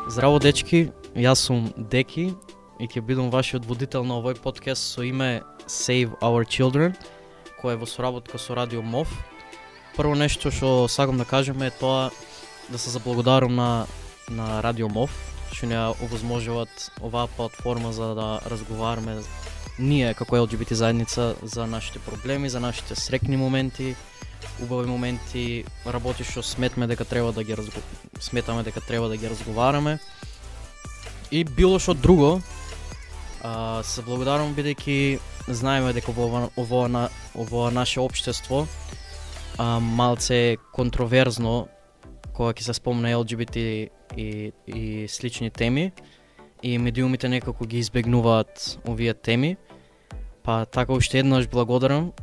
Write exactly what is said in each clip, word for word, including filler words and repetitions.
Здраво дечки, јас сум Деки и ќе бидам вашиот водител на овој подкаст со име Save Our Children, кој е во соработка со Радио МОВ. Прво нешто што сакам да кажем е тоа да се заблагодарам на, на Радио МОВ, што ни овозможуваат оваа платформа за да разговараме ние како Ел Џи Би Ти заедница за нашите проблеми, за нашите срекни моменти, убави моменти, работи што сметме дека треба да ги разго... сметаме дека треба да ги разговараме. И било што друго, а, се благодарам бидејќи знаеме дека во ова на ово наше општество а, малце контроверзно кога ќе се спомне Ел Џи Би Ти и, и слични теми, и медиумите некако ги избегнуваат овие теми. Па така уште еднаш благодарам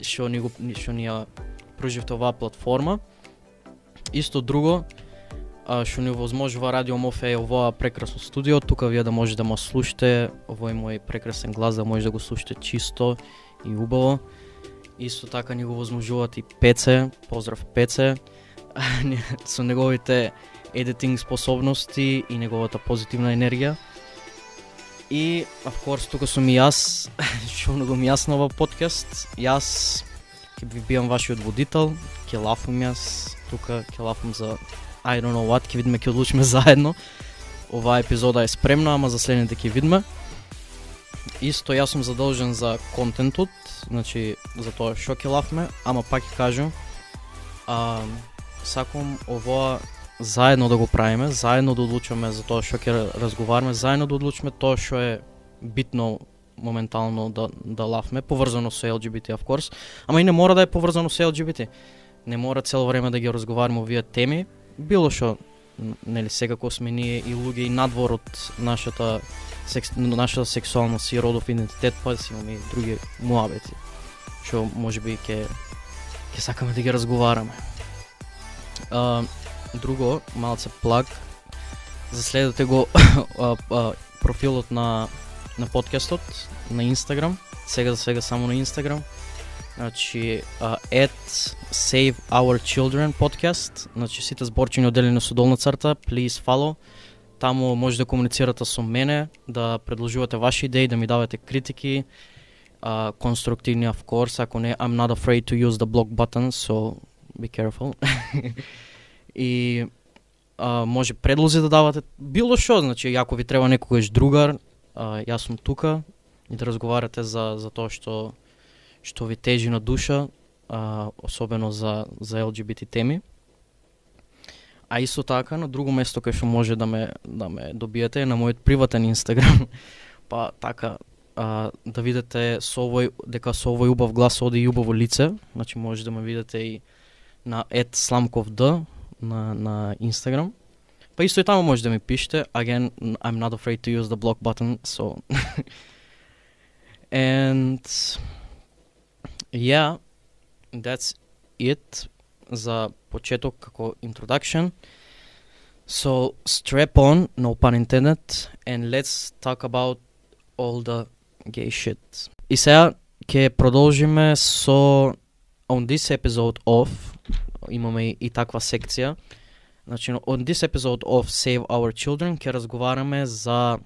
што ни го што ни ја пруживте оваа платформа. Исто друго што ни овозможува Радио МОВ е овоа прекрасно студио, тука вие да може да ме слушате овој мој прекрасен глас, да може да го слушате чисто и убаво. Исто така ни го возможуваат и Пеце, поздрав Пеце, со неговите едитинг способности и неговата позитивна енергија. И, of course, тука сум и јас, што многу ми јас на овој подкаст. Јас ќе ви биам вашиот водител, ќе лафум јас, тука ќе лафум за I don't know what, ќе видиме, ќе одлучиме заедно. Оваа епизода е спремна, ама за следните ќе видиме. Исто јас сум задолжен за контентот, значи за тоа што ќе лафме, ама пак ќе кажам, а, сакам овоа заедно да го правиме, заедно да одлучуваме за тоа што ќе разговараме, заедно да одлучиме тоа што е битно моментално да да лафме, поврзано со Ел Џи Би Ти, of course, ама и не мора да е поврзано со Ел Џи Би Ти. Не мора цело време да ги разговараме овие теми, било што, нели, секако сме ние и луѓе и надвор од нашата секс, нашата сексуалност и родов идентитет, па си имаме и други муабети, што можеби ќе ќе сакаме да ги разговараме. Uh, друго, малце плаг, заследете го а, а, профилот на на подкастот на Инстаграм, сега за сега само на Инстаграм. Значи uh, at Save Our Children podcast, значи сите зборчиња одделени со долна црта, please follow. Таму може да комуницирате со мене, да предложувате ваши идеи, да ми давате критики, uh, конструктивни, of course, ако не, I'm not afraid to use the block button, so be careful. И а, може предлози да давате, било што, значи ако ви треба некогаш другар, а, јас сум тука и да разговарате за за тоа што што ви тежи на душа, а, особено за за Ел Џи Би Ти теми. А исто така на друго место кај што може да ме да ме добиете е на мојот приватен Инстаграм. Па така а, да видите со овој дека со овој убав глас оди и убаво лице, значи може да ме видите и на ет сламков д на на Instagram. Па исто и таму може да ми пишете. Again, I'm not afraid to use the block button, so and yeah, that's it за почеток како introduction. So strap on, no pun intended, and let's talk about all the gay shit. И сега ќе продолжиме со on this episode of, имаме и таква секција. Значи, on this episode of Save Our Children ќе разговараме за,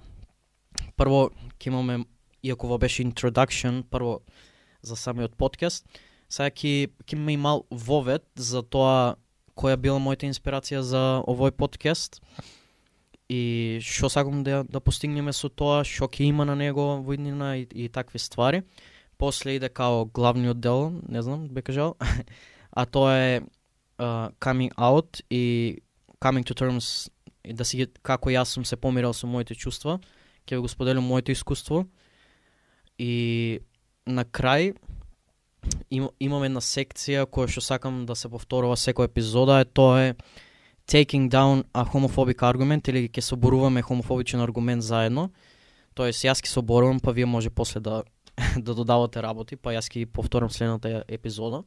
прво ќе имаме, иако во беше introduction, прво за самиот подкаст, сега ќе ќе имаме и мал вовед за тоа која била мојата инспирација за овој подкаст и што сакам да да постигнеме со тоа, што ќе има на него во иднина и, и такви ствари. После иде као главниот дел, не знам, бе кажал, а тоа е uh, coming out и coming to terms, и да си како јас сум се помирал со моите чувства, ќе го споделам моето искуство. И на крај им, имам една секција која што сакам да се повторува секоја епизода, е тоа е taking down a homophobic argument, или ќе соборуваме хомофобичен аргумент заедно. Тоест јас ќе соборувам, па вие може после да да додавате работи, па јас ќе ги повторам следната епизода.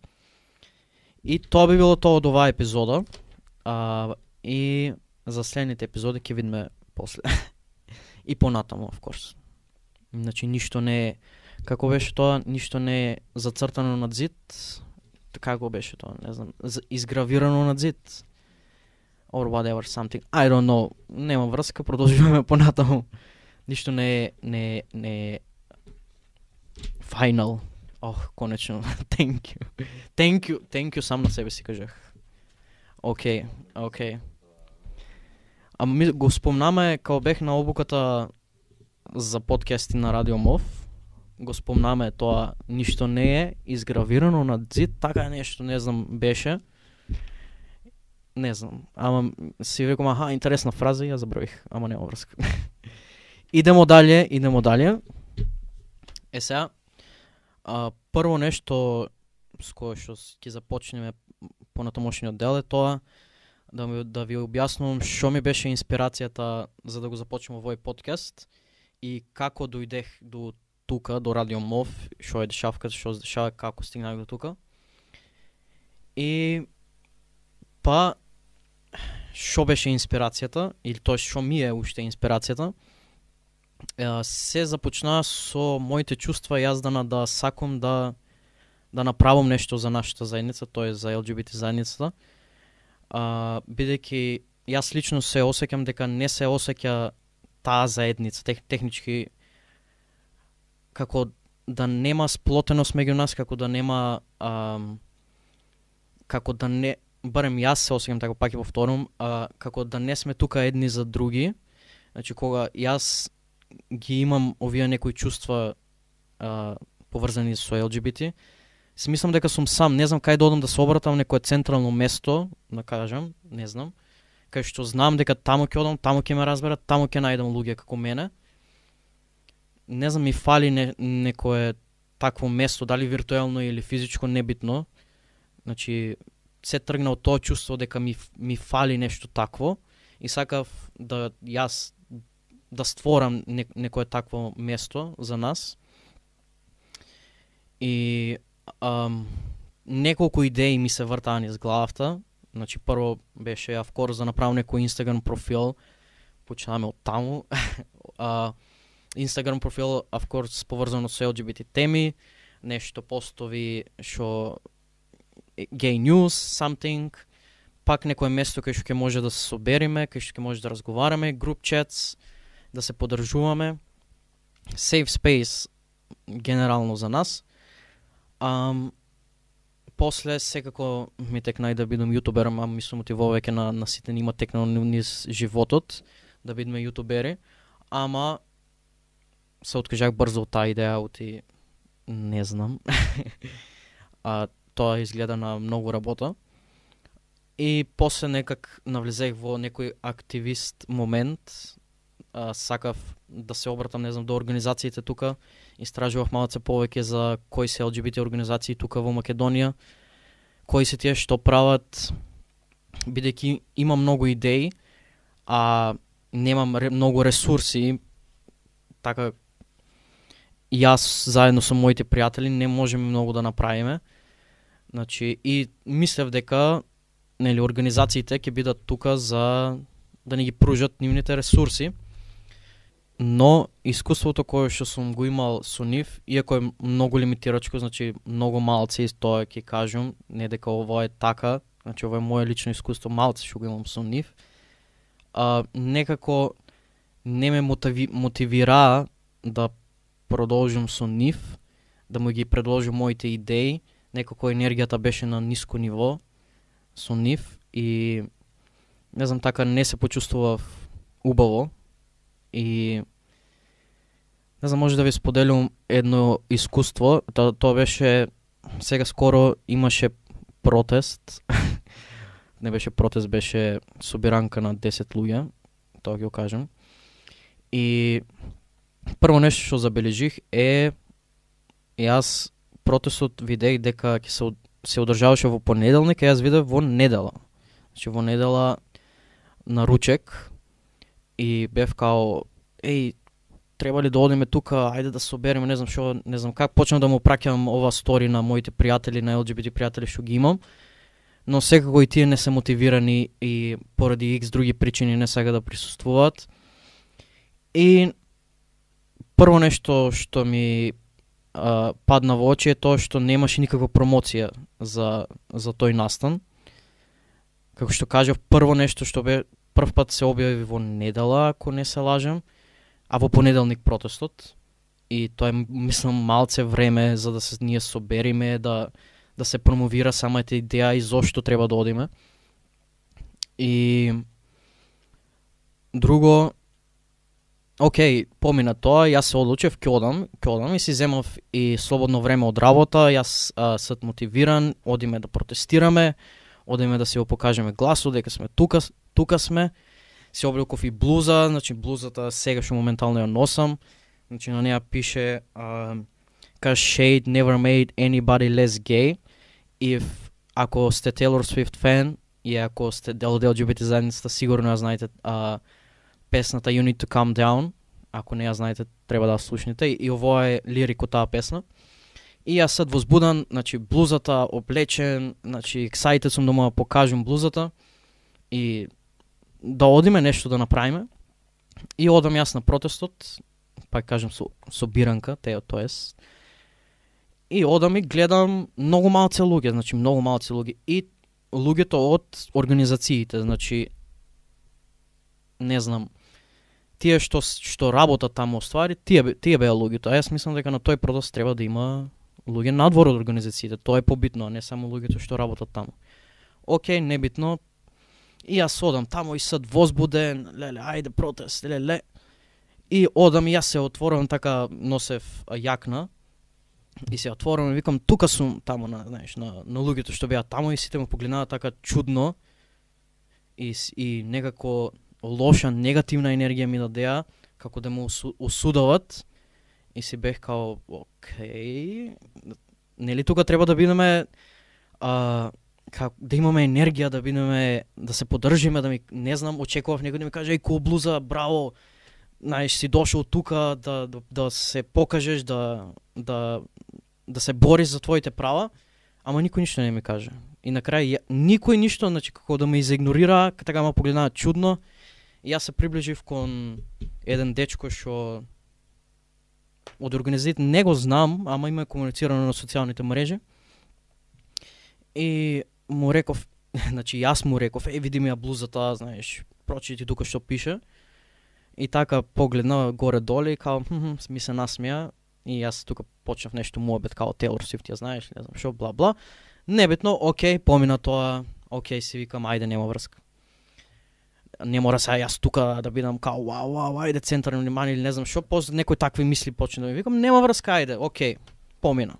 И тоа би било тоа од оваа епизода. А, и за следните епизоди ќе видиме после. И понатаму, of course. Значи ништо не е, како беше тоа, ништо не е зацртано над зид. Како беше тоа, не знам, изгравирано над зид. or whatever something. I don't know. Нема врска, продолжуваме понатаму. Ништо не е не е не е final. Ох, конечно. Thank you. Thank you. Thank you сам на себе си кажах. Океј, океј. Ама ми го спомнаме кога бех на обуката за подкасти на Радио Мов. Го спомнаме тоа, ништо не е изгравирано на зид, така нешто, не знам, беше. Не знам, ама си рекам, аха, интересна фраза и ја забравих, ама нема врска. Идемо далje, идемо далje. Е сега, а, прво нешто с кое што ќе започнеме понатамошниот дел е тоа да, ми, да ви објаснувам што ми беше инспирацијата за да го започнем овој подкаст и како дојдех до тука, до Радио Мов, што е дешавката, што се дешава, како стигнах до тука. И па што беше инспирацијата, или тоа што ми е уште инспирацијата, се започна со моите чувства јаздана да сакам да да направам нешто за нашата заедница, тоа е за Ел Џи Би Ти заедницата. А, бидејќи јас лично се осеќам дека не се осеќа таа заедница, тех, технички како да нема сплотеност меѓу нас, како да нема а, како да не, барем јас се осеќам така, пак ќе повторам, а, како да не сме тука едни за други. Значи кога јас ги имам овие некои чувства а, поврзани со Ел Џи Би Ти, си мислам дека сум сам, не знам кај да одам да се обратам некое централно место, да кажам, не знам, кај што знам дека таму ќе одам, таму ќе ме разберат, таму ќе најдам луѓе како мене. Не знам, ми фали не, некое такво место, дали виртуелно или физичко, небитно. Значи, се тргна од тоа чувство дека ми, ми фали нешто такво и сакав да јас да створам не, некое такво место за нас. И ам, неколку идеи ми се вртаа низ главата. Значи, прво беше, of course, да направам некој Instagram профил, почнаме од таму. uh, Instagram профил, of course, поврзано со Ел Џи Би Ти теми, нешто постови што gay news, something, пак некое место кај што ќе може да се собериме, кај што ќе може да разговараме, group chats, да се подржуваме, safe space генерално за нас. Um, после секако ми текна и да бидам јутубер, ама ми се мотивува веќе на, на сите нима текнало низ животот да бидеме јутубери, ама се откажах брзо од таа идеја, оти не знам. А тоа изгледа на многу работа. И после некак навлезех во некој активист момент, а, сакав да се обратам, не знам, до организациите тука. Истражував малце повеќе за кои се Ел Џи Би Ти организации тука во Македонија, кои се тие, што прават, бидејќи има многу идеи, а немам ре, многу ресурси, така јас заедно со моите пријатели не можеме многу да направиме. Значи, и мислев дека нели организациите ќе бидат тука за да ни ги пружат нивните ресурси. Но искуството кое што сум го имал со нив, иако е многу лимитирачко, значи многу малци, тоа ќе кажам, не дека ова е така, значи ова е моје лично искуство, малци што го имам со нив, а, некако не ме мотиви, мотивираа да продолжам со нив, да му ги предложам моите идеи, некако енергијата беше на ниско ниво со нив и не знам, така не се почувствував убаво. И не знам, може да ви споделам едно искуство. Тоа, тоа беше, сега скоро имаше протест. Не беше протест, беше собиранка на десет луѓе, тоа ќе го кажам. И прво нешто што забележих е, јас протестот видех дека ќе се, се одржаваше во понеделник, а јас видев во недела. Значи во недела на ручек. И бев као, еј, треба ли да одиме тука, ајде да се собереме, не знам што, не знам как, почнав да му праќам ова стори на моите пријатели, на Ел Џи Би Ти пријатели што ги имам, но секако и тие не се мотивирани и поради икс други причини не сега да присуствуваат. И прво нешто што ми а, падна во очи е тоа што немаше никаква промоција за, за тој настан. како што кажав, прво нешто што бе прв пат се објави во недела, ако не се лажам, а во понеделник протестот. И тоа е, мислам, малце време за да се ние собериме, да да се промовира самата идеја и зошто треба да одиме. И друго, окей, помина тоа, јас се одлучив, ќе одам, ќе одам и си земав и слободно време од работа, јас а, сад мотивиран, одиме да протестираме, одиме да си го покажеме гласот, дека сме тука, тука сме, си облеков и блуза, значи блузата сега што моментално ја носам, значи на неја пише uh, cause shade never made anybody less gay. If ако сте Taylor Swift фен и ако сте дел од Ел Џи Би Ти заедницата, сигурно ја знаете uh, песната You Need To Calm Down. Ако не ја знаете, треба да ја слушнете. И ово е лирик од таа песна. И јас сад возбудан, значи блузата, облечен, значи excited сум да му ја покажам блузата и да одиме нешто да направиме. И одам јас на протестот, пак кажам со, со биранка, те, тоест. И одам и гледам многу малце луѓе, значи многу малце луѓе. И луѓето од организациите, значи не знам, тие што што работат таму оствари, тие тие беа луѓето. А јас мислам дека на тој протест треба да има луѓе надвор од организациите. Тоа е побитно, а не само луѓето што работат таму. Океј, небитно. И јас одам таму и сад возбуден, леле, ајде протест, леле. И одам и јас се отворам, така носев јакна. И се отворам и викам, тука сум таму на, знаеш, на, на луѓето што беа таму и сите ме погледнаа така чудно. И, и некако лоша, негативна енергија ми дадеа, како да ме осудуват. И си бех као, окей, нели тука треба да бидеме, а, как, да имаме енергија, да бидеме, да се поддржиме, да ми, не знам, очекував некој да ми каже, еј, кул блуза, браво, знаеш, си дошол тука да, да, да се покажеш, да, да, да се бориш за твоите права, ама никој ништо не ми каже. И на крај, никој ништо, значи, како да ме изигнорира, така ме погледнаа чудно, и јас се приближив кон еден дечко што од организацијата не го знам, ама има комуницирано на социјалните мрежи. И му реков, значи јас му реков, е, види ми ја блузата, знаеш, прочити тука што пише. И така погледна горе-доле и као, хм, ми се насмеа. И јас тука почнав нешто муабет, као Taylor Swift, ја знаеш, не знам шо, бла-бла. Небитно, окей, помина тоа, окей, си викам, ајде, нема врска. Не мора сега јас тука да бидам као, вау, вау, ајде, центар на внимание или не знам шо, после некои такви мисли почна да ми викам, нема врска, ајде, окей, помина.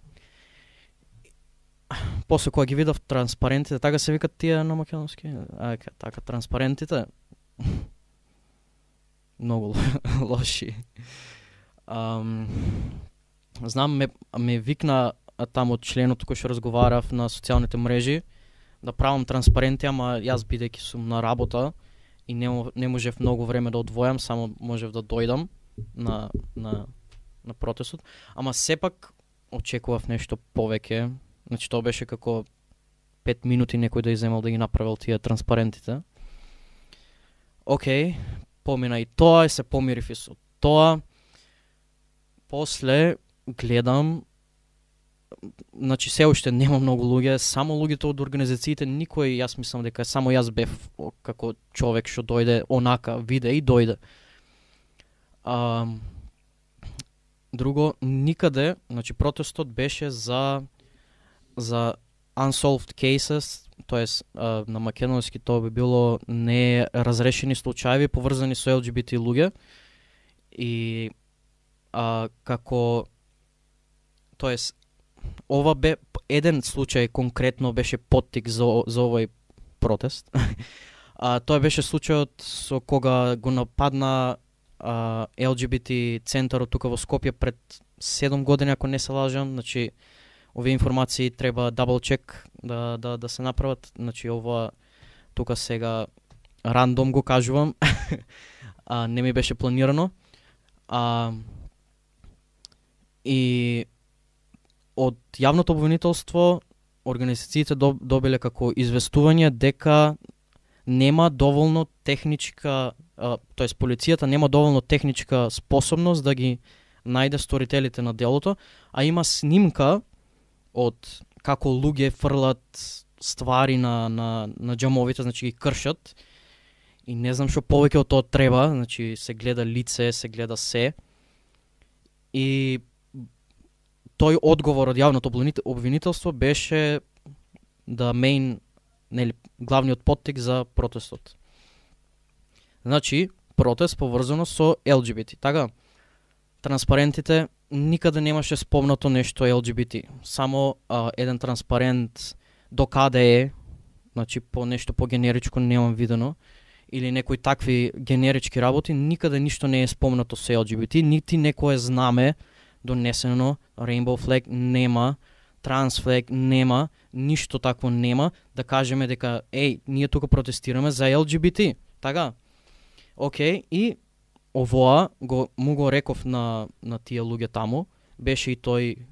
После кога ги видов транспарентите, така се викат тие на македонски, ајка, така, транспарентите, многу лоши. Um, знам, ме, ме викна таму членот кој што разговарав на социјалните мрежи да правам транспаренти, ама јас бидејќи сум на работа и не, не можев многу време да одвојам, само можев да дојдам на, на, на протестот. Ама сепак очекував нешто повеќе. Значи тоа беше како пет минути некој да иземал да ги направил тие транспарентите. Океј, помина и тоа и се помирив и со тоа. После гледам, значи се уште нема многу луѓе, само луѓето од организациите, никој, јас мислам дека само јас бев како човек што дојде онака, виде и дојде. А, друго, никаде, значи протестот беше за за unsolved cases, тоест на македонски тоа би било неразрешени случаи поврзани со Ел Џи Би Ти луѓе. И а, како, тоест, ова бе еден случај конкретно беше поттик за, за овој протест. а, тоа беше случајот со кога го нападна а, Ел Џи Би Ти центарот тука во Скопје пред седум години, ако не се лажам. Значи, овие информации треба дабл чек да, да, да се направат. Значи, ова тука сега рандом го кажувам. а, не ми беше планирано. А, и од јавното обвинителство организациите добиле како известување дека нема доволно техничка, тоест полицијата нема доволно техничка способност да ги најде сторителите на делото, а има снимка од како луѓе фрлат ствари на на на џамовите, значи ги кршат. И не знам што повеќе од тоа треба, значи се гледа лице, се гледа се. И тој одговор од јавното обвинителство беше да мејн, нели, главниот поттик за протестот. Значи, протест поврзано со Ел Џи Би Ти. Така, транспарентите никаде немаше спомнато нешто Ел Џи Би Ти. Само а, еден транспарент до каде е, значи по нешто по генеричко немам видено, или некои такви генерички работи, никаде ништо не е спомнато со Ел Џи Би Ти, нити некое знаме донесено, Rainbow Flag нема, Trans Flag нема, ништо такво нема, да кажеме дека, еј, ние тука протестираме за Ел Џи Би Ти. Така? Океј, и овоа го, му го реков на, на тие луѓе таму, беше и тој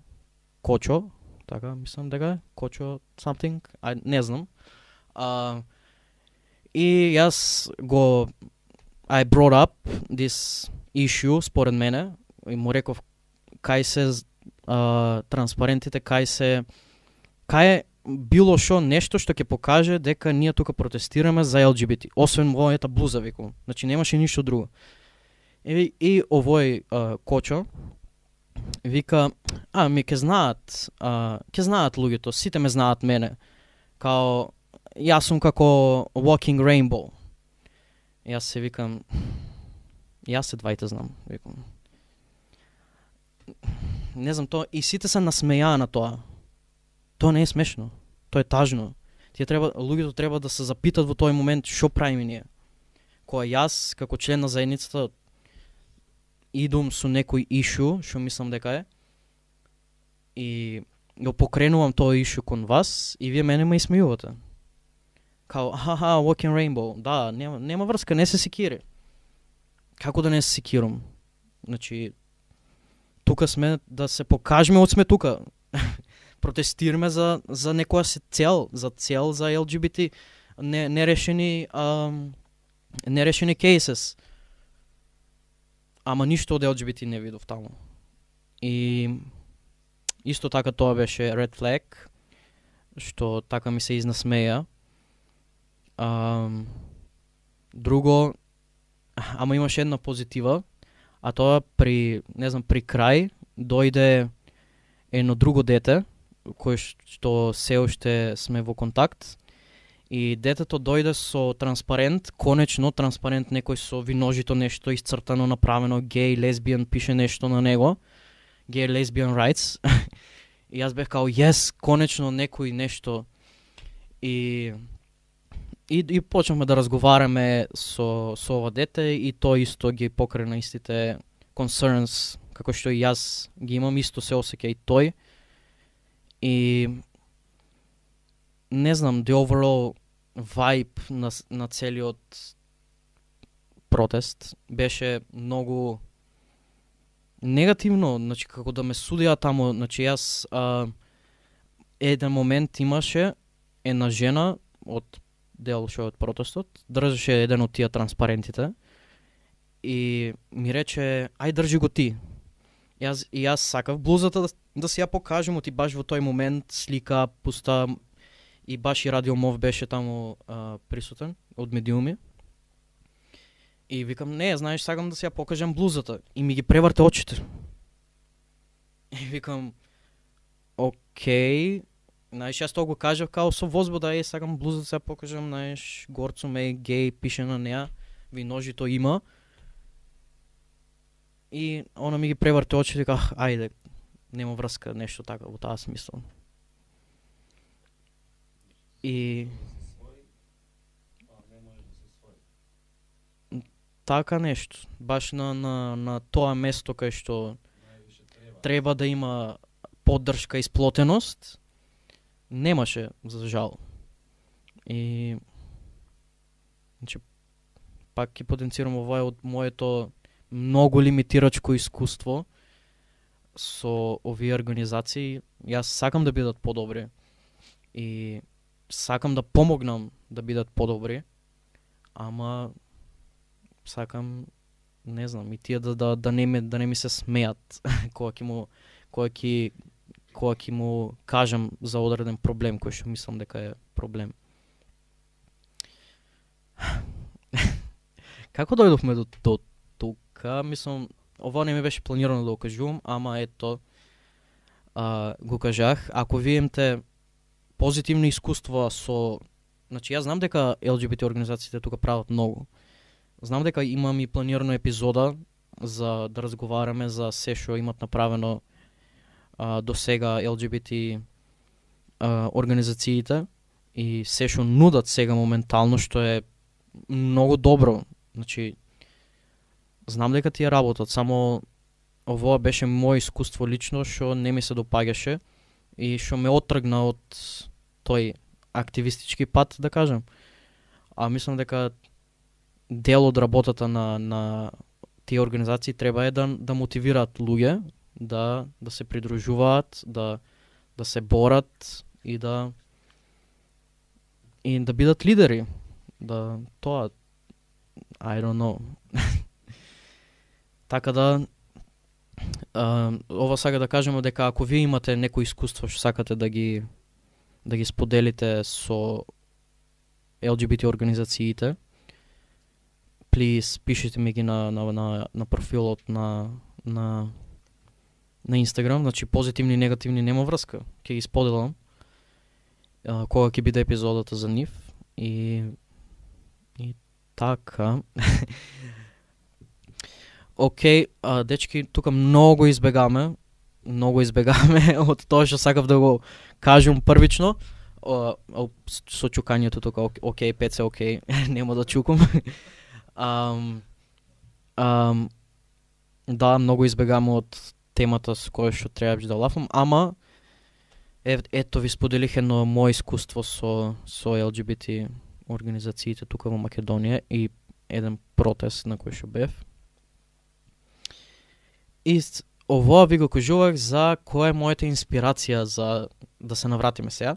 Кочо, така, мислам дека е, Кочо something, а, не знам. А, и јас го, I brought up this issue, според мене, и му реков кај се а, транспарентите, кај се, кај е било шо нешто што ќе покаже дека ние тука протестираме за Ел Џи Би Ти, освен мојата блуза, викам. Значи немаше ништо друго. И, и овој а, Кочо вика, а, ми ќе знаат, а, ќе знаат луѓето, сите ме знаат мене. Као, јас сум како Walking Rainbow. Јас се викам, јас се двајте знам, викам. Не знам, тоа, и сите се насмејаа на тоа. Тоа не е смешно. Тоа е тажно. Тие треба, луѓето треба да се запитат во тој момент што правиме ние. Кога јас, како член на заедницата, идум со некој ишу, што мислам дека е, и го покренувам тоа ишу кон вас, и вие мене ме исмејувате. Као, аха, Walking Rainbow, да, нема, нема врска, не се секири. Како да не се секирам? Значи, тука сме да се покажеме од сме тука. Протестираме за, за некоја се цел, за цел за Ел Џи Би Ти, не, нерешени, um, нерешени кейсес. Ама ништо од Ел Џи Би Ти не видов таму. И исто така тоа беше Red Flag, што така ми се изнасмеја. Um, друго, ама имаше една позитива, а тоа при, не знам, при крај дојде едно друго дете, кој што се уште сме во контакт, и детето дојде со транспарент, конечно транспарент некој со виножито нешто исцртано, направено, гей, лесбијан, пише нешто на него, гей, лесбијан rights, и јас бех као, yes, конечно некој нешто, и И, и почнавме да разговараме со, со ова дете, и тој исто ги покрена истите concerns, како што и јас ги имам, исто се осеќа и тој. И не знам, the overall vibe на, на целиот протест беше многу негативно, значи како да ме судија таму, значи јас а, еден момент имаше една жена од дел шо од протестот, држеше еден од тие транспарентите и ми рече, ај држи го ти. Јас, и јас сакав блузата да, да си ја покажем, ти баш во тој момент слика пуста, и баш и Радио Мов беше таму а, присутен од медиуми. И викам, не, знаеш, сакам да си ја покажем блузата. И ми ги преврте очите. И викам, окей. Знаеш, јас тоа го кажав као со возбуда, е, сакам блузата да се ја покажем, знаеш, горцум е гей, пише на неа, виножито има. И она ми ги преврте очите и ках, ајде, нема врска, нешто така, во таа смисла. И така нешто, баш на, на, на тоа место кај што треба. треба да има поддршка и сплотеност, немаше, за жал. И значи, пак ќе потенцирам ова од моето многу лимитирачко искуство со овие организации. Јас сакам да бидат подобри и сакам да помогнам да бидат подобри, ама сакам, не знам, и тие да да да не ми да не ми се смеат кога ќе му кога ќе кога ќе му кажам за одреден проблем кој што мислам дека е проблем. Како дојдовме до, до тука? Мислам, ова не ми беше планирано да го кажувам, ама ето, а, го кажах. Ако вие имате позитивни искуства со... Значи, јас знам дека Ел Џи Би Ти организациите тука прават многу. Знам дека имам и планирано епизода за да разговараме за се што имат направено а, до сега Ел Џи Би Ти а, организациите и се што нудат сега моментално, што е многу добро. Значи, знам дека тие работат, само ова беше моје искуство лично што не ми се допаѓаше и што ме оттргна од тој активистички пат, да кажам. А мислам дека дел од работата на, на тие организации треба е да, да мотивираат луѓе, да, да се придружуваат, да, да се борат и да и да бидат лидери. Да, тоа, I don't know. Така да, а, ова сака да кажеме дека ако вие имате некои искуство што сакате да ги да ги споделите со Ел Џи Би Ти организациите, please пишете ми ги на на на, на профилот на на на Instagram, значи позитивни и негативни нема врска. Ќе ги споделам а, кога ќе биде епизодата за нив и и така. Океј, okay, дечки, тука многу избегаме, многу избегаме од тоа што сакав да го кажам првично. О, о, со чукањето тука, окей, пет се окей, нема да чукам. um, um, да, многу избегаме од темата со која што требаш да лафам, ама е, ето ви споделих едно моје искуство со, со Ел Џи Би Ти организациите тука во Македонија и еден протест на кој што бев. И ова ви го кажувах за која е мојата инспирација за да се навратиме сега.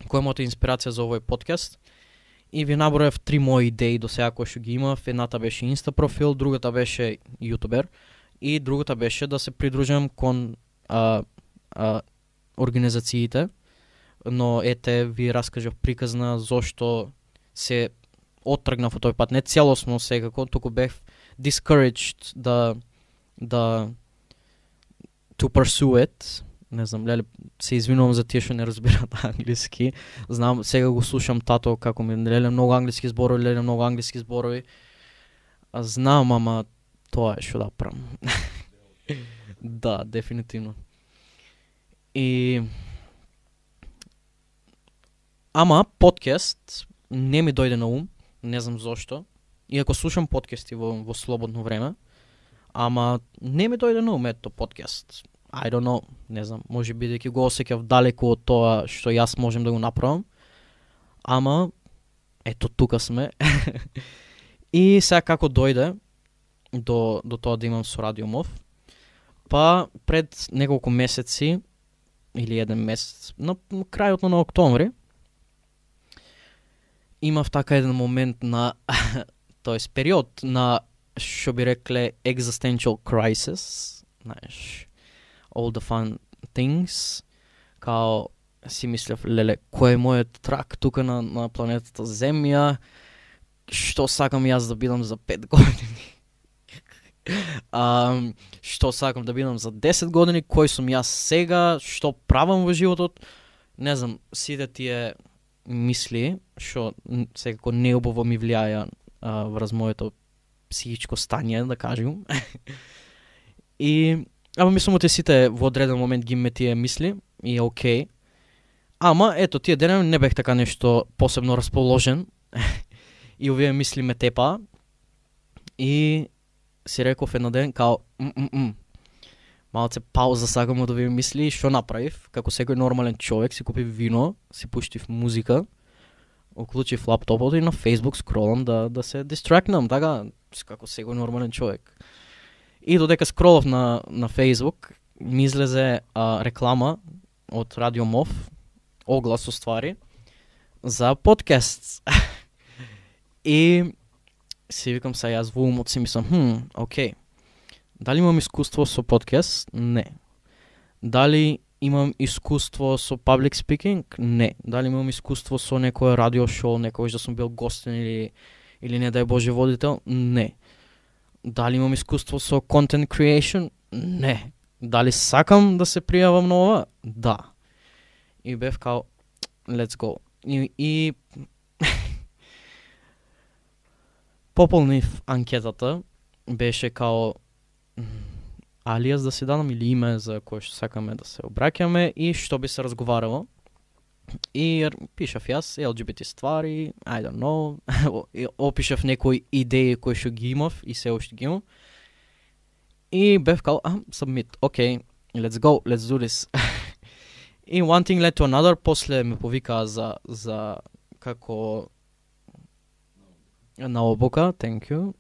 Која е мојата инспирација за овој подкаст. И ви наброев три мои идеи до сега кои што ги имав. Едната беше Инста профил, другата беше јутубер и другата беше да се придружам кон а, а, организациите. Но ете ви раскажав приказна зошто се оттргнав од тој пат. Не целосно секако, туку бев discouraged да да to pursue it. Не знам, леле, се извинувам за тие што не разбираат англиски. Знам, сега го слушам тато како ми, леле, многу англиски зборови, леле, многу англиски зборови. А знам, ама тоа е што да правам. Да, дефинитивно. И ама подкаст не ми дојде на ум, не знам зошто. Иако слушам подкасти во, во слободно време, ама не ми дојде на ум ето подкаст. I don't know, не знам, може би дека го осеќав далеку од тоа што јас можем да го направам. Ама ето тука сме. И сега како дојде до до тоа да имам со Радио Мов, па пред неколку месеци или еден месец, на крајот на октомври, имав така еден момент на тоест период на што би рекле existential crisis, знаеш, all the fun things, као си мислев, леле, кој е мојот трак тука на, на планетата Земја, што сакам јас да бидам за пет години, um, што сакам да бидам за десет години, кој сум јас сега, што правам во животот, не знам, сите тие мисли, што секако неубаво ми влијаја uh, врз моето психичко стање, да кажем. И ама мислам оти сите во одреден момент ги ме тие мисли и е окей. Ама ето тие денови не бех така нешто посебно расположен и овие мисли ме тепа и си реков еден ден као м-м-м. Малце пауза сакам од овие мисли и што направив? Како секој нормален човек си купив вино, си пуштив музика, уклучив лаптопот и на Facebook скролам да да се дистрактнам, така како секој нормален човек. И додека скролов на на Facebook, ми излезе а, реклама од Радио Мов, оглас уствари, за подкаст. И си викам са јас во умот си мислам, хм, окей. Дали имам искуство со подкаст? Не. Дали имам искуство со public speaking? Не. Дали имам искуство со некое радио шоу, некојаш да сум бил гостен или или не дај Боже водител? Не. Дали имам искуство со content creation? Не. Дали сакам да се пријавам на ова? Да. И бев као let's go. И, и пополнив анкетата, беше као алијас да си дадам или име за кое што сакаме да се обраќаме и што би се разговарало. И пишав јас Ел Џи Би Ти ствари, I don't know, опишав некои идеи кои што ги имав и се уште ги имам. И бев као, а, submit, окей, okay, let's go, let's do this. И one thing led to another, после ме повикаа за, за како на обука, thank you.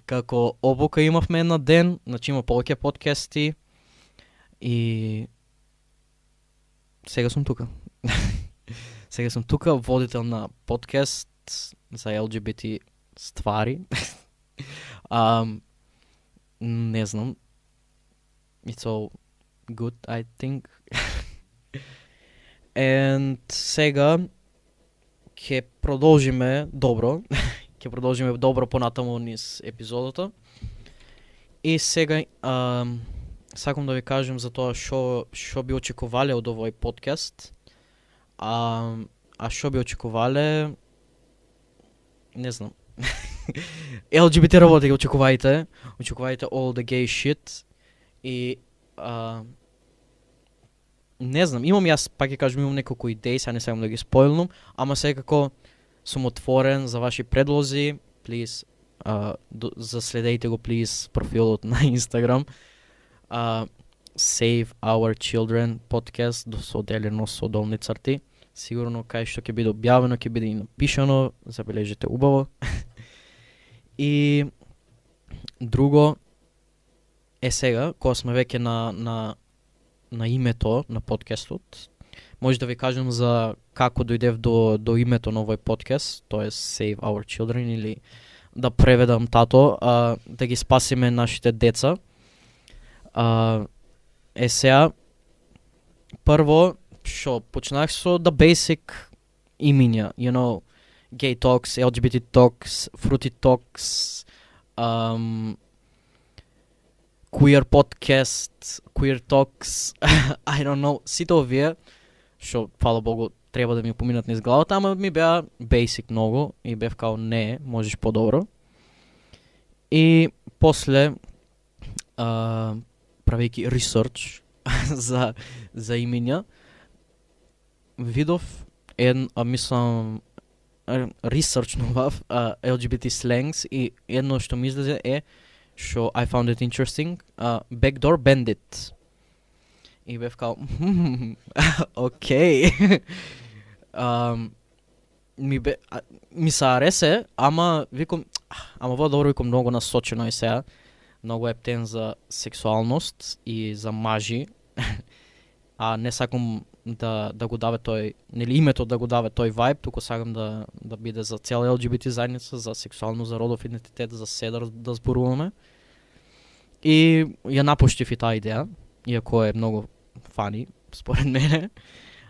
Како обука имавме на ден, значи има повеќе подкасти и сега сум тука. Сега сум тука, водител на подкаст за Ел Џи Би Ти ствари. um, не знам. It's all good, I think. And сега ќе продолжиме добро. Ќе продолжиме добро понатаму низ епизодата. И сега um, сакам да ви кажем за тоа што што би очекувале од овој подкаст. А а што би очекувале? Не знам. Ел Џи Би Ти работи, очекувајте. Очекувајте all the gay shit. И а, не знам, имам јас, пак ќе кажам, имам неколку идеи, сега не сакам да ги спойлнам, ама секако сум отворен за ваши предлози. Please, uh, заследејте го, please, профилот на Инстаграм. Uh, Save Our Children podcast, соделено со долни црти. Сигурно кај што ќе биде објавено, ќе биде и напишано, забележите убаво. И друго е сега, кога сме веќе на, на, на името на подкастот, може да ви кажем за како дојдев до, до името на овој подкаст, тоа е Save Our Children, или да преведам тато, а, да ги спасиме нашите деца. А, е сега, прво, шо, почнах со the basic имиња, you know, Gay Talks, Ел Џи Би Ти Talks, Fruity Talks, um, Queer Podcast, Queer Talks, I don't know, сите овие, шо, фала Богу, треба да ми поминат низ главата, ама ми беа basic многу и бев као не, можеш подобро. И после, uh, правејќи research за, за имиња, видов ен, а, мислам, ресерчнував Ел Џи Би Ти slangs и едно што ми излезе е што I found it interesting, uh, Backdoor Bandit. И бев као, окей. Ми бе, а, ми се аресе, ама викам, ама во добро, викам, многу насочено и сега. Многу ептен за сексуалност и за мажи. А не сакам да, да го даве тој, нели името да го даве тој вајб, туку сакам да, да биде за цела Ел Џи Би Ти заедница, за сексуално, за родов идентитет, за се да, да зборуваме. И ја напуштив и таа идеја, иако е многу фани, според мене.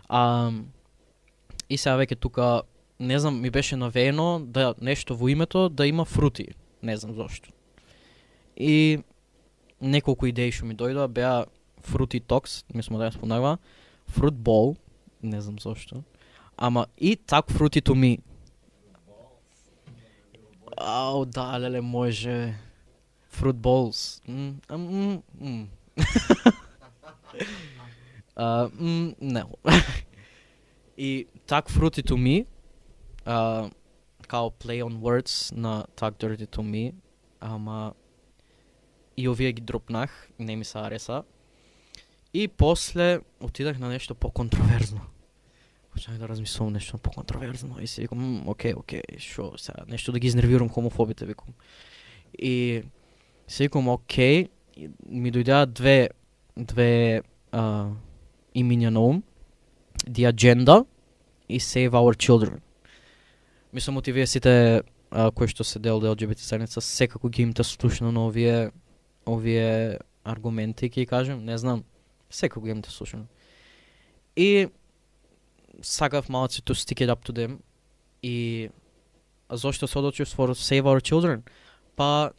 А, и сега веќе тука, не знам, ми беше навеено да нешто во името да има фрути, не знам зошто. И неколку идеи што ми дојдоа беа Fruity Talks, мислам да ја спомнава, Fruit Bowl, не знам зошто, ама и так Fruity to me. Ау, да, леле, може. Fruit Bowls. Mm, mm, mm. uh, mm, не. И так Fruity to me, uh, као play on words на так Dirty to me, ама и овие ги дропнах, не ми се ареса. И после отидах на нешто по-контроверзно. Почнах да размислувам нешто по-контроверзно и си викам, окей, окей, шо сега, нешто да ги изнервирам хомофобите, викам. И си викам, окей, ми дојдеа две, две а, имиња на ум, The Agenda и Save Our Children. Мислам, оти вие сите а, кои што се дел Ел Џи Би Ти заедница, секако ги имате слушано на овие, овие аргументи, ќе кажем, не знам. Секој го имам те слушано. И сакав малци to stick it up to them. И зошто се одлучив for Save Our Children? Па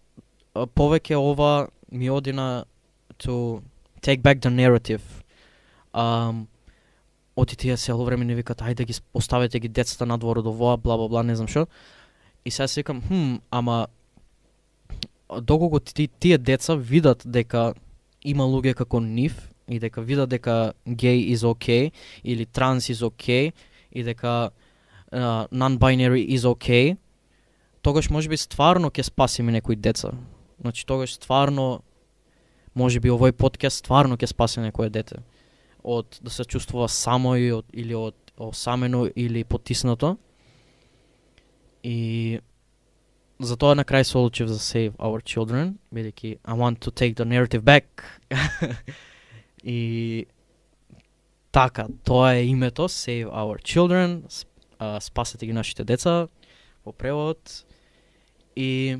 повеќе ова ми оди на to take back the narrative. Um, оти тие цело време не викат ајде ги оставете ги децата надвор од овоа, бла бла бла, не знам што. И сега си викам, хм, ама доколку ти, тие деца видат дека има луѓе како нив и дека видат дека гей is okay или транс is okay и дека uh, non-binary is okay, тогаш можеби стварно ќе спасиме некои деца. Значи тогаш стварно можеби овој подкаст стварно ќе спаси некое дете од да се чувствува само и од, или од осамено или потиснато. И затоа на крај се одлучив за Save Our Children, бидејќи I want to take the narrative back. И така, тоа е името, Save Our Children, uh, спасете ги нашите деца, во превод. И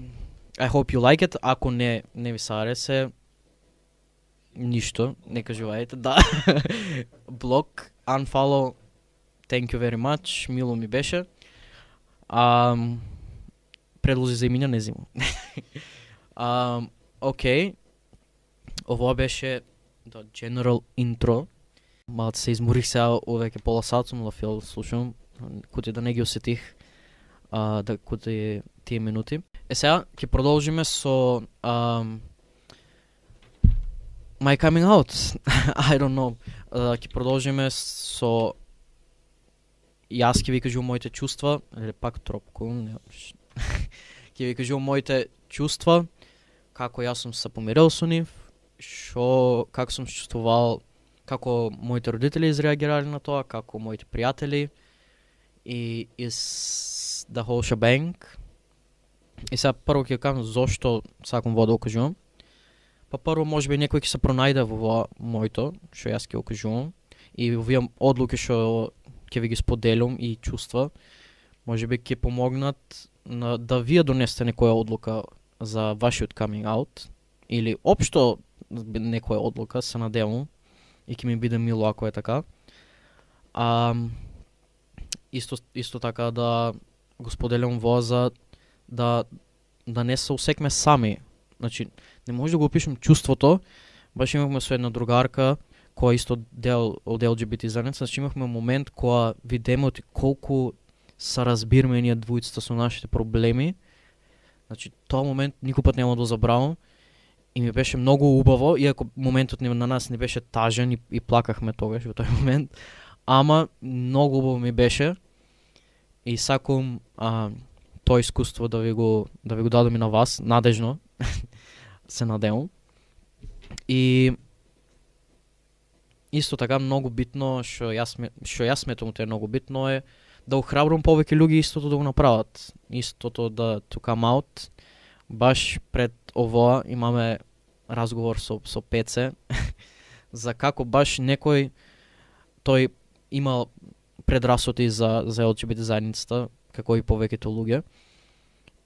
I hope you like it. Ако не, не ви сарасе, ништо, не кажувајте, да. Блок, unfollow, thank you very much, мило ми беше. Um, предлози за имиња не зимам. um, Океј, ова беше the general intro. Малце се изморих сега, овеќе пола сат сум лафил, слушам, куте да не ги осетих, uh, да куте тие минути. Е сега, ќе продолжиме со um, my coming out. I don't know. Uh, ќе продолжиме со јас ќе ви кажувам моите чувства, или пак тропко, не, ќе ви кажувам моите чувства, како јас сум се помирил со нив, шо, како сум чувствувал, како моите родители изреагирале на тоа, како моите пријатели и is the whole shebang. И сега прво ќе кажам зошто сакам во да окажувам. Па прво можеби некој ќе се пронајде во моето, што јас ќе окажувам, и овие одлуки што ќе ви ги споделам и чувства, можеби ќе помогнат на, да вие донесете некоја одлука за вашиот coming out, или општо некоја одлука, се надевам, и ќе ми биде мило ако е така. А, исто, исто така да го споделям во за да, да не се усекме сами. Значи, не може да го опишем чувството, баш имавме со една другарка, која исто дел од Ел Џи Би Ти заедница, значи имавме момент која видиме колку се разбираме ние двојцата со нашите проблеми. Значи, тоа момент никој пат нема да забравам и ми беше многу убаво, иако моментот на нас не беше тажен и, и плакахме тогаш во тој момент, ама многу убаво ми беше и сакам а, тоа искуство да ви го да ви го дадам и на вас, надежно, се надевам. И исто така многу битно, што јас што јас сметам тоа е многу битно е да охрабрам повеќе луѓе истото да го направат. Истото да to come out. Баш пред ова имаме разговор со со Пеце за како баш некој тој имал предрасуди за за Ел Џи Би Ти заедницата, како и повеќето луѓе.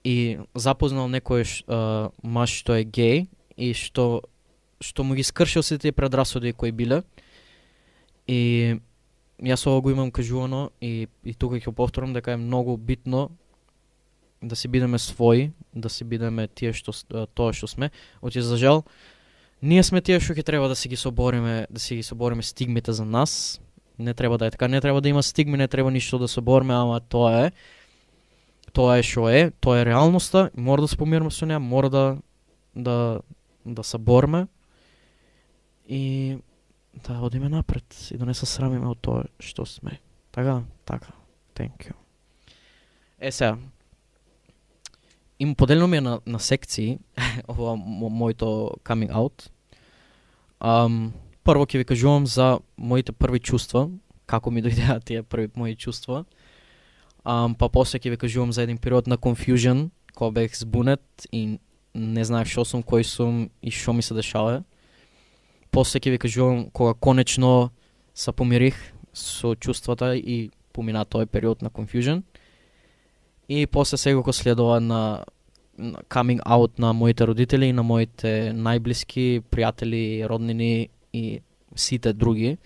И запознал некој uh, маж што е геј и што што му ги скршил сите тие предрасуди кои биле. И јас ова го имам кажувано и, и тука ќе повторам дека е многу битно да си бидеме своји, да си бидеме тие што тоа што сме. Оти за жал, ние сме тие што ќе треба да си ги собориме, да си ги собориме стигмите за нас. Не треба да е така, не треба да има стигми, не треба ништо да собориме, ама тоа е. Тоа е што е, тоа е реалноста, мора да се помириме со неа, мора да да да се борме и да одиме напред и да не се срамиме од тоа што сме. Така, така. Thank you. Е сега, им поделено ми е на, на секции ова моето coming out. Um, прво ќе ви кажувам за моите први чувства, како ми дојдеа тие први мои чувства. Um, па после ќе ви кажувам за еден период на confusion, кога бех збунет и не знаев што сум, кој сум и што ми се дешава. После ќе ви кажувам кога конечно се помирих со чувствата и помина тој период на confusion. И после сега го следува на, на coming out на моите родители и на моите најблиски пријатели, роднини и сите други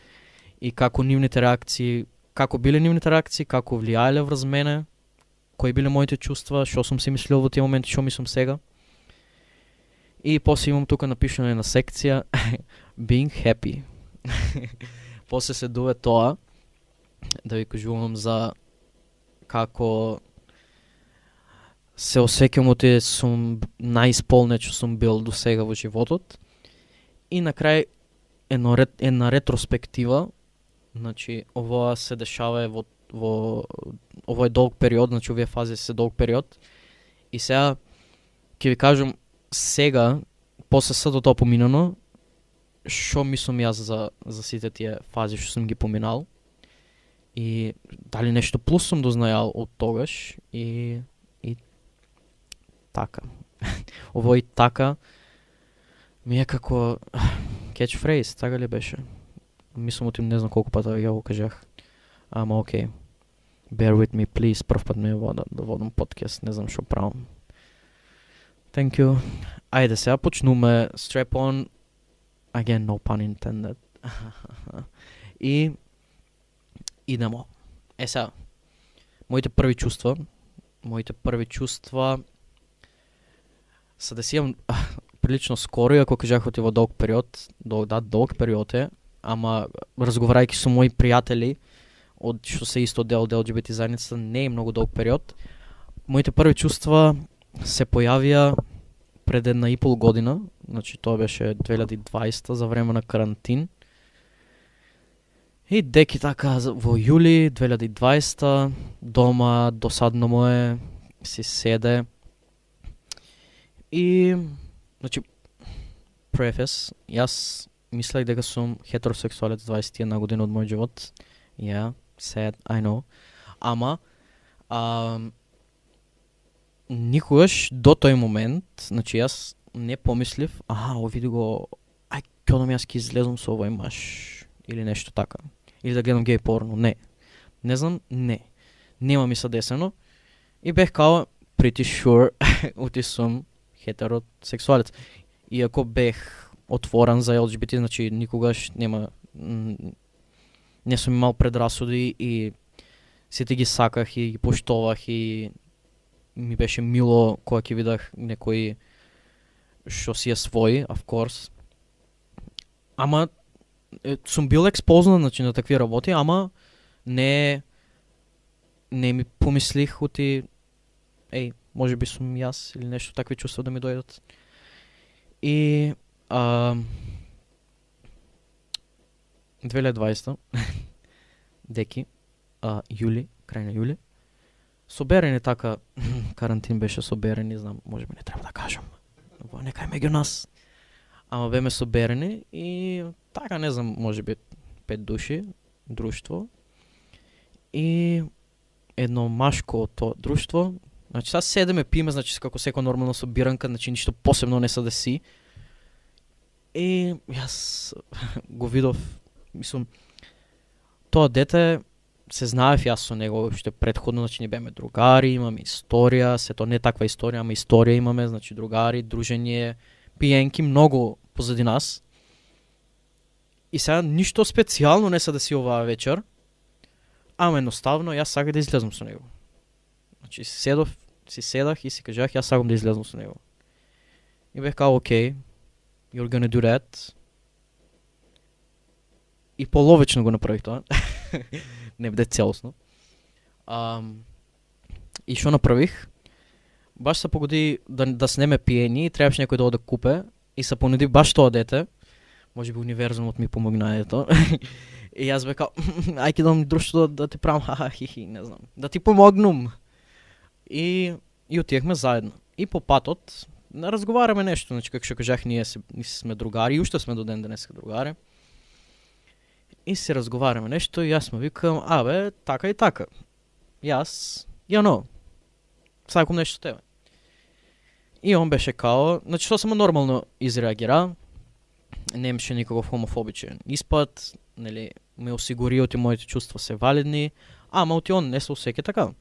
и како нивните реакции, како биле нивните реакции, како влијаеле врз мене, кои биле моите чувства, што сум си мислил во тие моменти, што мислам сега. И после имам тука напишано на секција being happy. После се дуве тоа да ви кажувам за како се осеќам од тие сум најисполнет што сум бил до сега во животот. И на крај една, една ретроспектива, значи ова се дешава во, во овој долг период, значи овие фази се долг период. И сега ќе ви кажам сега, после сето тоа поминано, што мислам јас за, за сите тие фази што сум ги поминал. И дали нешто плюс сум дознајал од тогаш и, и така. Овој така ми е како catchphrase, така ли беше? Мислам отим не знам колку пата ја го кажах. Ама окей. Bear with me, please. Прв пат ме вода да водам подкаст, не знам што правам. Thank you. Ајде сега почнуме. Strap on. Again, no pun intended. И идемо. Е сега, моите први чувства, моите први чувства се десијам прилично скоро, иако кажах оти во долг период, дол, да, долг период е, ама разговарајќи со мои пријатели, од што се исто дел од Ел Џи Би Ти заедницата, не е многу долг период. Моите први чувства се појавија пред една и пол година, значи тоа беше две илјади и дваесета за време на карантин. И деки така во јули две илјади и дваесета дома досадно му е, си седе. И значи префес, јас мислех дека сум хетеросексуалец дваесет и една година од мојот живот. Yeah, sad, I know. Ама а, никогаш до тој момент, значи јас не помислив, аха, види го, ај, кјодам јас ке излезам со овој маж или нешто така. Или да гледам геј порно, не. Не знам, не. Нема ми се десено. И бех као pretty sure ути сум хетеросексуалец. Иако бех отворен за Ел Џи Би Ти, значи никогаш нема, не сум имал предрасуди и сите ги саках и ги поштовах и ми беше мило кога ќе видах некој што си е свој, of course. Ама е, сум бил експознат, значи, на такви работи, ама не не ми помислих ути еј, може би сум јас или нешто такви чувства да ми дојдат. И а, две илјади и дваесета деки, а, јули, крај на јули, соберени така, карантин беше соберени, знам, може би не треба да кажам, во некај меѓу нас, ама беме соберени и така, не знам, може би пет души, друштво, и едно машко тоа друштво, значи сега седеме, пиме, значи како секој нормално собиранка, значи ништо посебно не се деси. И јас го видов, мислам, тоа дете се знаев јас со него уште претходно, значи не беме другари, имаме историја, сето не таква историја, ама историја имаме, значи другари, дружење, пиенки, многу позади нас. И сега ништо специјално не се деси оваа вечер, ама едноставно јас саках да излезам со него. Значи седов, си седах и си кажах јас сакам да излезам со него. И бех као окей, you're gonna do that. И половично го направих тоа. Не биде целосно. Um, и што направих? Баш се погоди да, да снеме пиени и требаше некој да оде купе и се понуди баш тоа дете. Може би универзумот ми помогна ето. И јас бе као, ај ке дам друштво да, да ти правам, ха хи не знам. Да ти помогнум. И, и отиехме заедно. И по патот не разговараме нешто, значи како што кажах, ние се, ние сме другари и уште сме до ден денеска другари. И се разговараме нешто и јас му викам, абе, така и така. Јас, ја но, сакам нешто тебе. И он беше као, значи што само нормално изреагира, не имаше никаков хомофобичен испад, нели, ме осигури оти моите чувства се валидни, ама оти он не се осеќа така.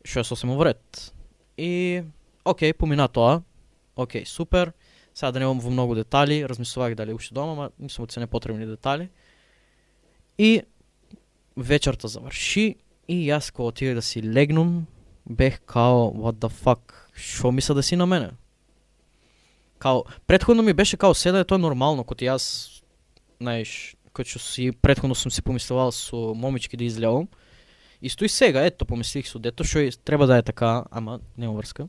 Што е сосема вред. И, окей, помина тоа, окей, супер, Сега да немам во многу детали, размислувах дали уште дома, ама мислам дека се непотребни детали. И вечерта заврши и јас кога отидев да си легнум, бех као what the fuck, шо мисля да си на мене? Као претходно ми беше као седа е тоа нормално, кога јас, знаеш, кога што си претходно сум си помислувал со момички да излевам. Исто и сега, ето помислих со дето што треба да е така, ама нема врска.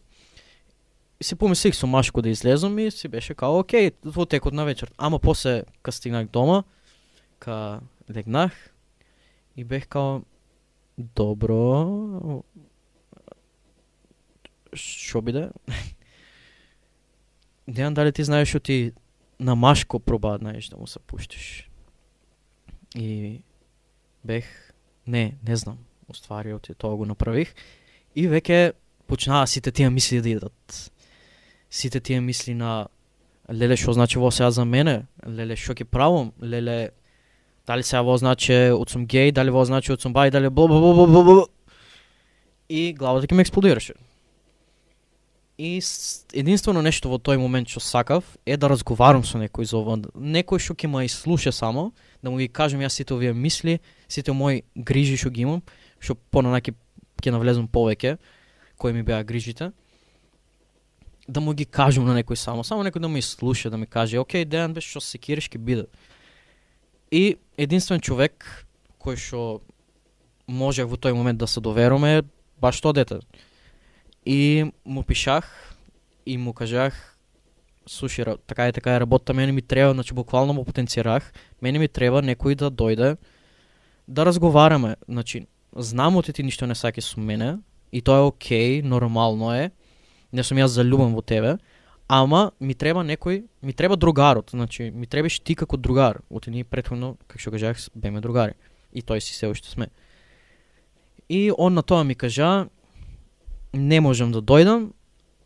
И си помислих со машко да излезам и си беше као окей, во текот на вечер. Ама после кога стигнах дома, ка легнах и бех као добро, шо биде? Не знам дали ти знаеш што ти на машко проба, знаеш, да му се пуштиш. И бех, не, не знам, уствари оти тоа го направих. И веќе почнаа сите тие мисли да идат. Сите тие мисли на леле што значи во сега за мене, леле што ќе правам, леле дали сега во значи од сум геј, дали во значи од сум бај, дали бла бла бла бла бла. И главата ќе ме експлодираше. И единствено нешто во тој момент што сакав е да разговарам со некој за ова, некој што ќе ме изслуша само, да му ги кажам јас сите овие мисли, сите мои грижи што ги имам, што понанаки ќе навлезам повеќе, кои ми беа грижите. Да му ги кажам на некој само, само некој да ме изслуша, да ми каже, окей, Дејан, бе, што се кириш, ќе биде. И единствен човек кој што можех во тој момент да се доверам е баш тоа дете. И му пишах и му кажах, слушай, така е, така е работа, мене ми треба, значи буквално му потенцирах, мене ми треба некој да дојде да разговараме, значи знам оти ти ништо не саки со мене и тоа е окей, нормално е, не сум јас залюбен во тебе, ама ми треба некој, ми треба другарот, значи ми требаш ти како другар, оти ние претходно, како што кажах, беме другари и тој си се уште сме. И он на тоа ми кажа, не можам да дојдам,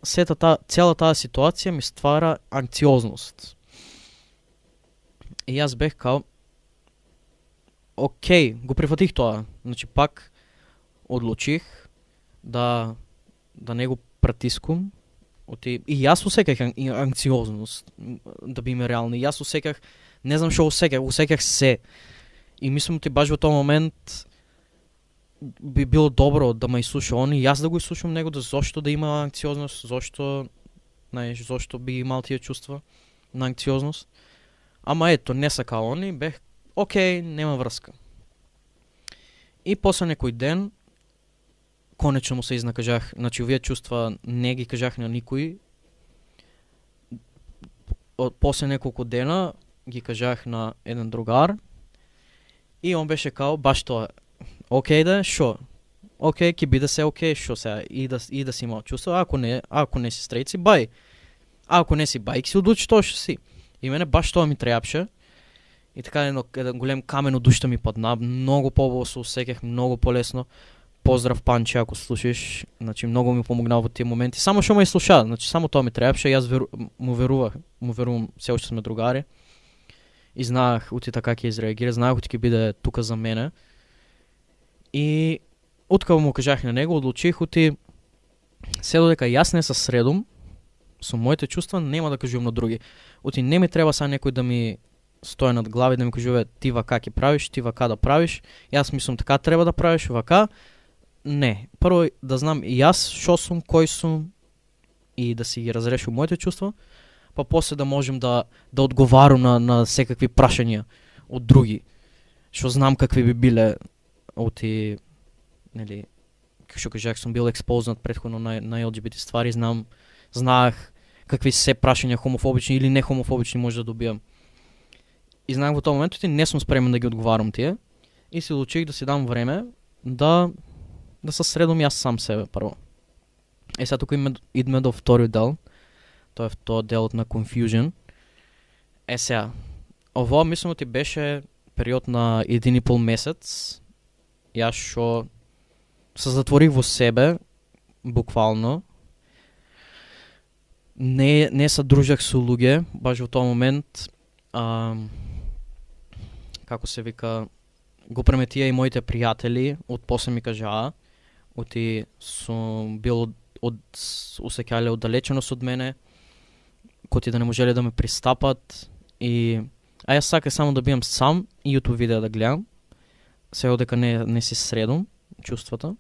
сета та, цела таа ситуација ми ствара анксиозност. И јас бех као, окей, го прифатих тоа, значи пак одлучих да да не го пратискам, оти и јас осеках анксиозност, да биме реални, јас осеках, не знам што осеках, осеках се. И мислам ти баш во тој момент би било добро да ме изслуша он и јас да го изслушам него, да зошто да има анксиозност, зошто, знаеш, зошто би имал тие чувства на анксиозност. Ама ето, не сака он и бех, окей, нема врска. И после некој ден, конечно му се изнакажах, значи овие чувства не ги кажах на никој. После неколку дена ги кажах на еден другар и он беше као, баш тоа, окей да, шо? Окей, ќе биде се окей, шо сега, и да, и да си имал чувства, ако не, ако не си стрейт си бај. А ако не си бај, ќе си одлучи тоа што си. И мене баш тоа ми требаше. И така едно, еден голем камен од душта ми падна, многу побаво се усеках, многу полесно. Поздрав Панче, ако слушаш, значи многу ми помогнал во тие моменти. Само што ме слуша, значи само тоа ми требаше, јас веру, му верувах, му верувам, се уште сме другари. И знаах ути така ќе изреагира, знаах ути ќе биде тука за мене. И откако му кажах на него, одлучих ути се додека јас не се средум со моите чувства, нема да кажувам на други. Ути не ми треба са некој да ми стои над глави да ми кажува ти вака ќе правиш, ти вака да правиш. Јас мислам така треба да правиш, вака. Не, прво да знам и јас шо сум, кој сум и да си ги разрешам моите чувства, па после да можем да да одговарам на на секакви прашања од други. Што знам какви би биле оти, нели, како што кажах, сум бил експознат претходно на на Ел Џи Би Ти ствари, знам, знаах какви се прашања хомофобични или не хомофобични може да добиам. И знаех во тој момент и не сум спремен да ги одговарам тие и се одлучих да си дам време да да се средам јас сам себе прво. Е сега тука идеме до вториот дел. Тоа е тоа делот на confusion. Е сега, ово мислам ти беше период на еден и пол месец. Јас што се затворих во себе, буквално. Не не се дружах со луѓе, баш во тој момент. А, како се вика, го преметија и моите пријатели, од после ми кажаа, оти сум бил од, од усеќале оддалеченост од мене, коти да не можеле да ме пристапат и а јас саках само да бидам сам и YouTube видео да гледам. Сега дека не не си средом чувствата.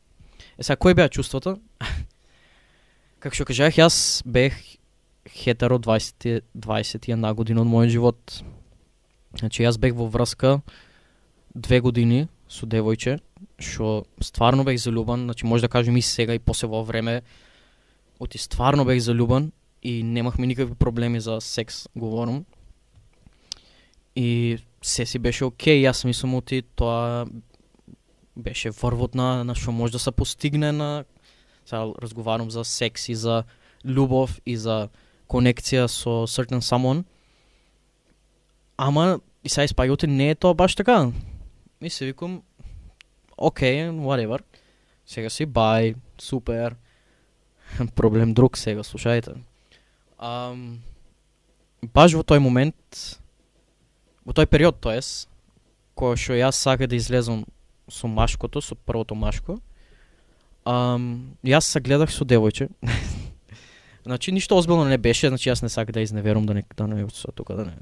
Е сега кои беа чувствата? Како што кажах, јас бех хетеро дваесет дваесет и една година од мојот живот. Значи јас бех во врска две години со девојче, што стварно бех залюбан, значи може да кажем и сега и после во време, оти стварно бех залюбан и немахме никакви проблеми за секс, говорам. И се си беше окей, јас мислам оти тоа беше врвот на, на што може да се постигне на, сега разговарам за секс и за љубов и за конекција со certain someone. Ама и сега испаѓате не е тоа баш така. И се викам, окей, okay, whatever. Сега си бај, супер. Проблем друг сега, слушајте. Um, баш во тој момент, во тој период, тоест, кој што јас сака да излезам со машкото, со првото машко, um, јас се гледах со девојче. Значи ништо озбилно не беше, значи јас не сакам да изневерам, да не да не тука да не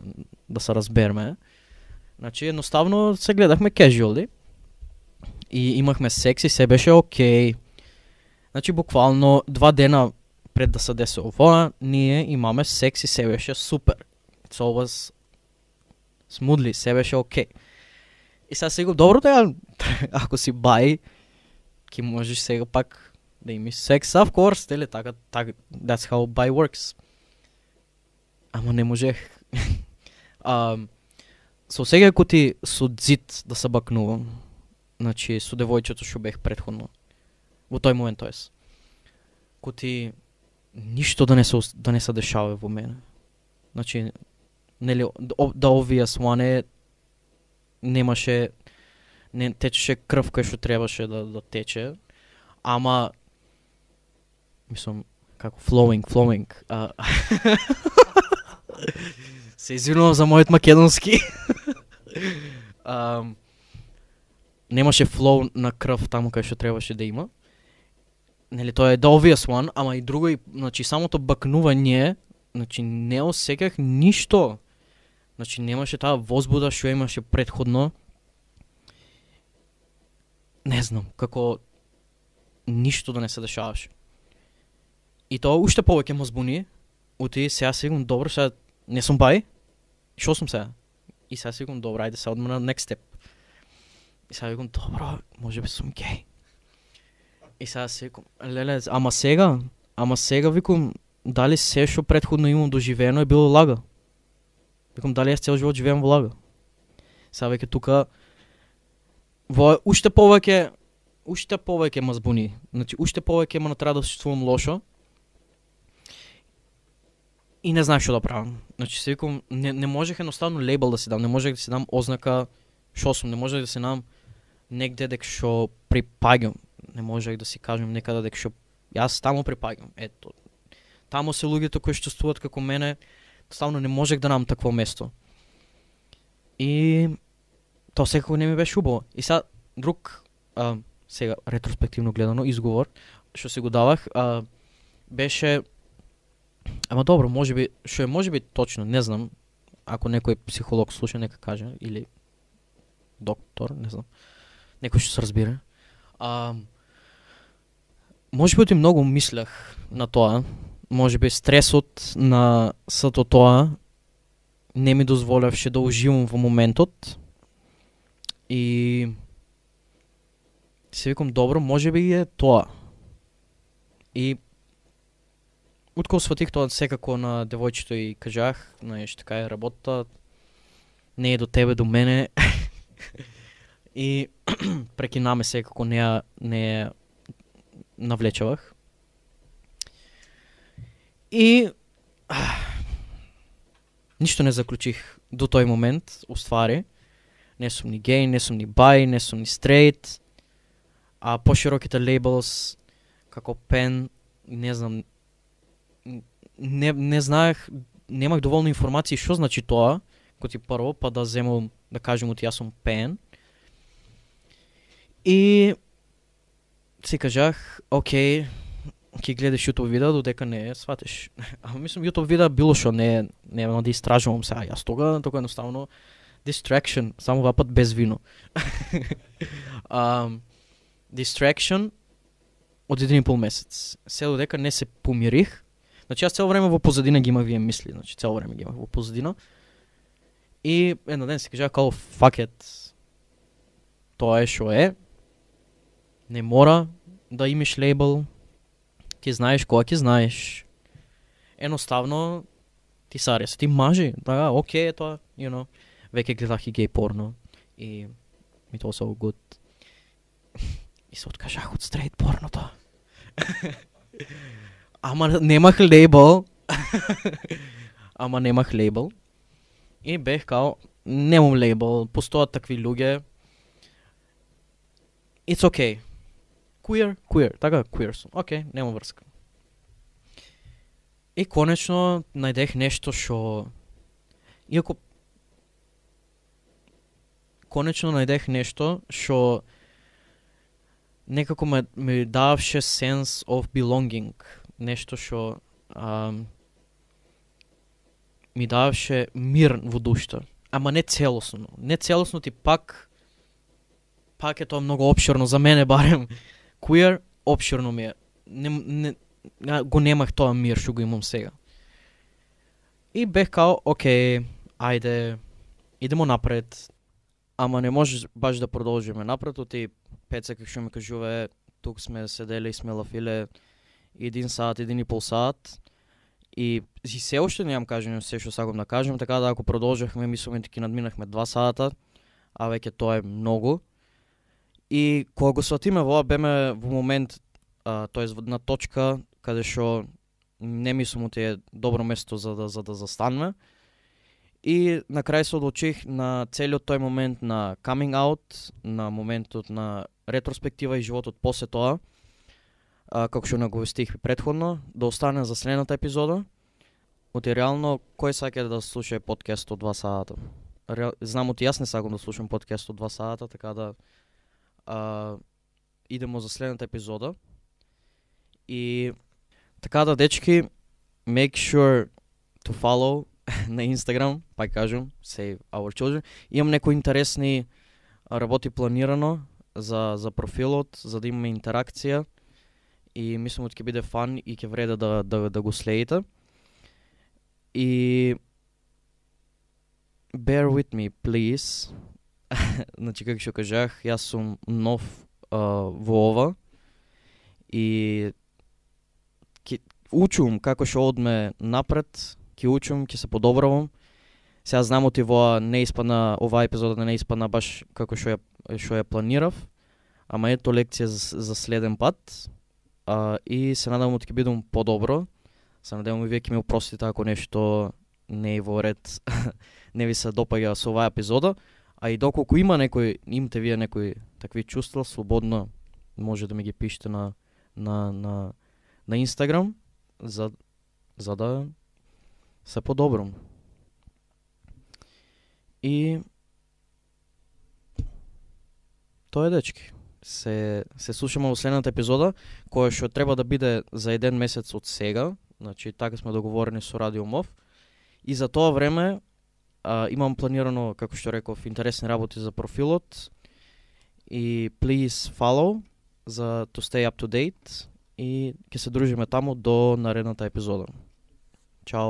да се разбереме. Значи едноставно се гледахме casually и имахме секс и се беше окей. Значи буквално два дена пред да се деси ова, ние имаме секс и се беше супер. It's always smoothly, се беше окей. И сега си го добро да ако си бај, ки можеш сега пак да имаш секс, of course, дели така, така, that's how bi works. Ама не можех. um, со сега ако ти со дзит да се бакнувам, значи со девојчето што бех предходно, во тој момент, тоест, ко ти ништо да не се, да не се дешава во мене. Значи, нели, the obvious one е, немаше, не течеше крв кај што требаше да, да тече, ама, мислам, како flowing, flowing. Uh, се извинувам за мојот македонски. um, немаше флоу на крв таму кај што требаше да има. Нели тоа е the obvious one, ама и друго и, значи самото бакнување, значи не осеках ништо. Значи немаше таа возбуда што имаше претходно. Не знам, како ништо да не се дешаваше. И тоа уште повеќе ме збуни. Оти сега си викам, добро, сега не сум бај. Шо сум сега? И сега си викам, добро, ајде сега одме на next step. И сега викам, добро, може би сум геј. И сега си викам, леле, ама сега, ама сега викам, дали се што претходно имам доживено е било лага? Викам, дали јас цел живот живеам во лага? Сега веќе тука, во уште повеќе, уште повеќе ме збуни. Значи, уште повеќе ме натера да се чувствувам лошо. И не знаеш што да правам. Значи, се викам, не, не можех едноставно лейбл да си дам, не можех да си дам ознака шо сум, не можех да си дам негде дека што припаѓам. Не можех да си кажам некаде дека што јас таму припаѓам. Ето. Таму се луѓето кои што чувствуваат како мене, ставно не можех да намам такво место. И тоа секако не ми беше убаво. И сега друг, а, сега ретроспективно гледано, изговор што си го давах, а, беше, ама добро, можеби, што е можеби точно, не знам, ако некој психолог слуша, нека каже, или доктор, не знам, некој што се разбира. А, можеби оти многу мислех на тоа, можеби стресот на сето тоа не ми дозволевше да уживам во моментот и се викам, добро, можеби е тоа. И откако сватих тоа секако на девојчето и кажах, знаеш, така е работа, не е до тебе, до мене. И прекинаме секако, не ја не ја навлечавах. И а, ништо не заклучих до тој момент, уствари. Не сум ни гей, не сум ни бај, не сум ни стрейт. А пошироките лейблс, како пен, не знам, не, не знаех, немах доволно информации што значи тоа, кој ти прво, па да земам, да кажем оти јас сум пен. И си кажах, окей, ќе гледаш YouTube видео додека не сватиш. Ама мислам YouTube видео било што не нема да истражувам сега. Јас тога тога едноставно distraction, само два пат без вино. um, distraction од еден и пол месец. Се додека не се помирих. Значи јас цело време во позадина ги имав вие мисли, значи цело време ги имав во позадина. И едно ден се кажа као fuck it. Тоа е што е. Не мора да имаш лейбл. Ти знаеш кога ќе знаеш. Едноставно ти саре се ти мажи. Да, окей е тоа, you know. Веќе гледах и гей порно и ми тоа so good. И се откажах од стрейт порното. Ама немах лейбл. Ама немах лейбл. И бех као, немам лейбл, постојат такви луѓе. It's okay. Queer, queer, така, queer сум. Окей, okay, нема врска. И конечно најдех нешто што... Иако... Конечно најдех нешто што... Некако ме, ме даваше sense of belonging. Нешто што... Um, ми даваше мир во душата. Ама не целосно. Не целосно ти пак... Пак е тоа многу опширно за мене барем. Queer, опширно ми е. Не, не, го немах тоа мир што го имам сега. И бех као, окей, ајде, идемо напред. Ама не можеш баш да продолжиме напред, оти Пеца како што ми кажува, тук сме седели и сме лафиле един сат, един и пол сат. И, и се уште немам кажено се што сакам да кажем, така да ако продолжавме, мислам дека надминахме два сата, а веќе тоа е многу. И кога го сватиме во беме во момент, а, тоест на точка каде што не мислам дека е добро место за да за да застанеме. И на крај се одлучих на целиот тој момент на coming out, на моментот на ретроспектива и животот после тоа, а, како што наговестих претходно, да остане за следната епизода. Оти реално, кој сака да слуша подкаст од два сата? Реал, знам оти јас не сакам да слушам подкаст од два сата, така да а, идемо за следната епизода. И така да, дечки, make sure to follow на Instagram, пак кажам, Save Our Children. Имам некои интересни работи планирано за, за профилот, за да имаме интеракција и мислам дека ќе биде фан и ќе вреде да, да, да го следите. И bear with me, please. Значи, како што кажах, јас сум нов uh, во ова и ќе учум како што одме напред, ќе учум, ќе се подобравам. Сега знам оти во не испадна, оваа епизода не испадна баш како што ја што ја планирав, ама ето лекција за, за следен пат. А, и се надевам дека ќе бидам подобро. Се надевам и вие ќе ми опростите ако нешто не е во ред, не ви се допаѓа со оваа епизода. А и доколку има некој, имате вие некои такви чувства, слободно може да ми ги пишете на на на на Instagram за за да се подобрам. И тоа е, дечки. Се се слушаме во следната епизода, која што треба да биде за еден месец од сега, значи така сме договорени со Радио МОВ. И за тоа време а, имам планирано, како што реков, интересни работи за профилот. И please follow за to stay up to date и ќе се дружиме таму до наредната епизода. Чао.